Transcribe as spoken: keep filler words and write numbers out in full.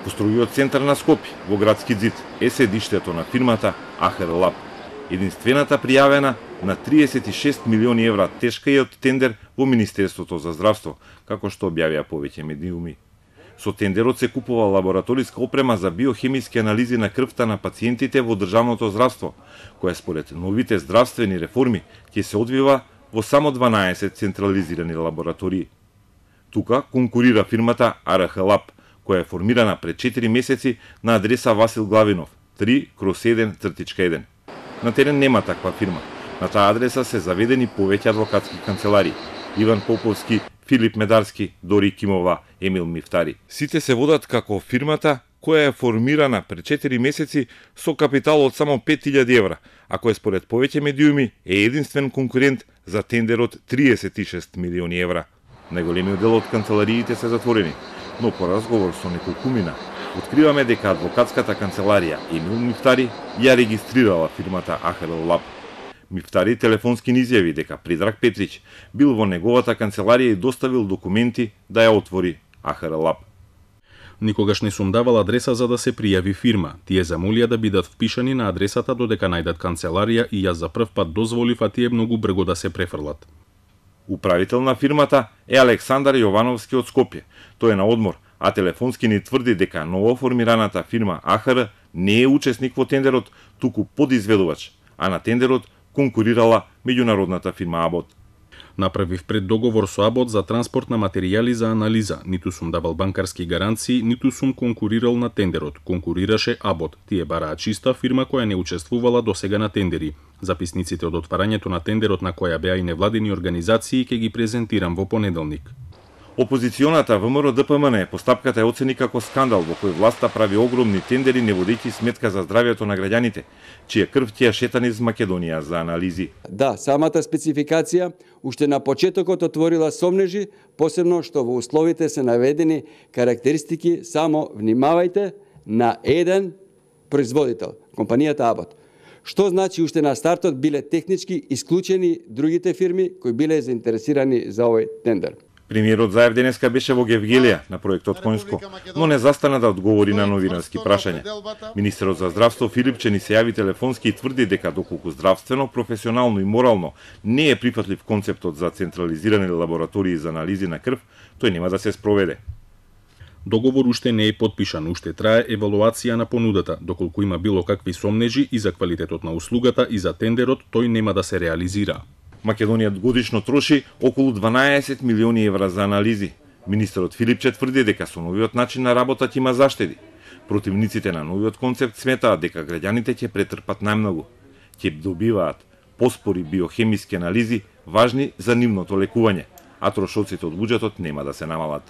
Во строгиот центар на Скопје, во градски ѕид, е седиштето на фирмата АХР Лаб, единствената пријавена на триесет и шест милиони евра тешкиот тендер во Министерството за здравство, како што објавија повеќе медиуми. Со тендерот се купува лабораториска опрема за биохемиски анализи на крвта на пациентите во државното здравство, која според новите здравствени реформи ќе се одвива во само дванаесет централизирани лаборатории. Тука конкурира фирмата АРХ Лаб, која е формирана пред четири месеци на адреса Васил Главинов, три кроз еден еден. На терен нема таква фирма. На таа адреса се заведени повеќе адвокатски канцеларии: Иван Поповски, Филип Медарски, Дори Кимова, Емил Мифтари. Сите се водат како фирмата која е формирана пред четири месеци со капитал од само пет илјади евра, а кој според повеќе медиуми е единствен конкурент за тендерот триесет и шест милиони евра. Најголемиот дел од канцелариите се затворени, но по разговор со неколкумина откриваме дека адвокатската канцеларија Емил Мифтари ја регистрирала фирмата АХР Лаб. Мифтари телефонски ни изјави дека Предраг Петрич бил во неговата канцеларија и доставил документи да ја отвори АХР Лаб. Никогаш не сум давал адреса за да се пријави фирма. Тие замолија да бидат впишани на адресата додека најдат канцеларија и јас за прв пат дозволив, а тие многу брго да се префрлат. Управител на фирмата е Александар Јовановски од Скопје. Тој е на одмор, а телефонски ни тврди дека новоформираната фирма АХР не е учесник во тендерот, туку подизведувач, а на тендерот конкурирала меѓународната фирма Абот. Направив преддоговор со Абот за транспорт на материјали за анализа. Ниту сум давал банкарски гаранции, ниту сум конкурирал на тендерот. Конкурираше Абот. Тие бараа чиста фирма која не учествувала досега на тендери. Записниците од отварањето на тендерот, на која беа и невладени организации, ќе ги презентирам во понеделник. Опозиционата ВМРО-ДПМН постапката е оцени како скандал во кој власта прави огромни тендери не водејќи сметка за здравјето на граѓаните, чија крв ќе шета низ Македонија за анализи. Да, самата спецификација уште на почетокот отворила сомнежи, посебно што во условите се наведени карактеристики само, внимавајте, на еден производител, компанијата Абот. Што значи уште на стартот биле технички исклучени другите фирми кои биле заинтересирани за овој тендер. Премиерот Заев денеска беше во Гевгелија на проектот Конјско, но не застана да одговори на новинарски прашања. Министерот за здравство Филипче ни се јави телефонски и тврди дека доколку здравствено, професионално и морално не е прифатлив концептот за централизирани лаборатории за анализи на крв, тој нема да се спроведе. Договор уште не е потпишан, уште трае евалуација на понудата. Доколку има било какви сомнежи и за квалитетот на услугата и за тендерот, тој нема да се реализира. Македонија годишно троши околу дванаесет милиони евра за анализи. Министерот Филипче тврди дека со новиот начин на работа ќе има заштеди. Противниците на новиот концепт сметаат дека граѓаните ќе претрпат најмногу. Ќе добиваат поспори биохемиски анализи важни за нивното лекување, а трошоците од буџетот нема да се намалат.